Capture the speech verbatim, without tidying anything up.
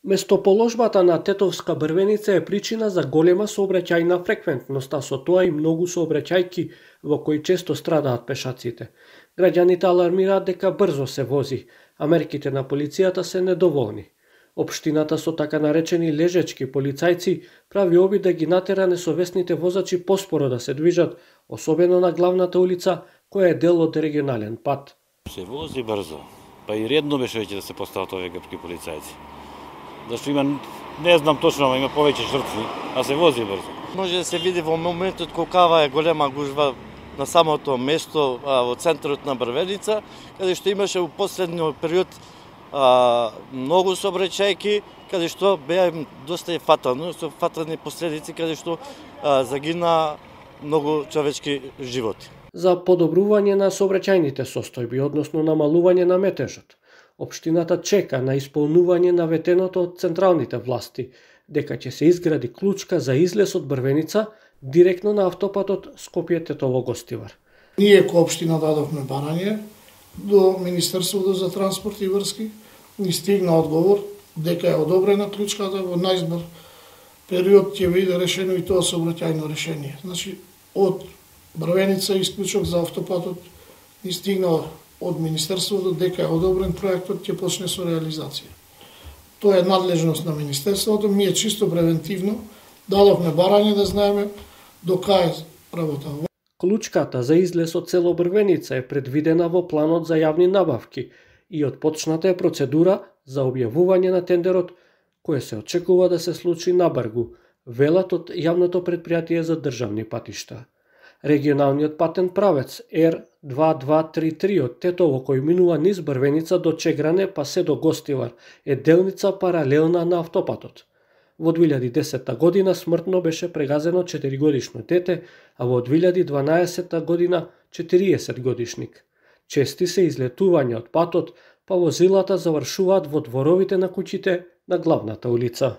Местоположбата на Тетовска Брвеница е причина за голема сообраќајна фреквентност, а со тоа и многу сообраќајки во кои често страдаат пешаците. Граѓаните алармираат дека брзо се вози, а мерките на полицијата се недоволни. Општината со така наречени лежечки полицајци прави обид да ги натера несовесните возачи поспоро да се движат, особено на главната улица, која е дел од регионален пат. Се вози брзо, па и редно беше веќе да се постават овие грчки полицајци. Зашто има, не знам точно, има повеќе жртви, а се вози брзо. Може да се види во моментот колкава е голема гужва на самото место а, во центарот на Брвеница, каде што имаше во последниот период а, многу сообраќајки, каде што беа доста и фатално, со фатални последици, каде што а, загина многу човечки животи. За подобрување на сообраќајните состојби, односно намалување на метежот, општината чека на исполнување наветеното од централните власти, дека ќе се изгради клучка за излез од Брвеница директно на автопатот Скопје-Тетово-Гостивар. Ние ко општина дадовме барање до Министерството за транспорт и врски, ни стигна одговор дека е одобрена клучката, во најзбор период ќе биде решено и тоа сообраќајно решение. Значи, од Брвеница исклучок за автопатот ни стигна од Министерството дека е одобрен проектот, ќе почне со реализација. Тоа е надлежност на Министерството, ми е чисто превентивно, дадовме барање да знаеме до кај работа. Клучката за излез од село Брвеница е предвидена во планот за јавни набавки и отпочната е процедура за објавување на тендерот, кој се очекува да се случи набрзо, велат од јавното претпријатие за државни патишта. Регионалниот патен правец Р две две три три од Тетово, кој минува низ Брвеница до Чегране па се до Гостивар, е делница паралелна на автопатот. Во две илјади и десета година смртно беше прегазено четиригодишно дете, а во две илјади и дванаесета година четириесет годишник. Чести се излетувања од патот, па возилата завршуваат во дворовите на куќите на главната улица.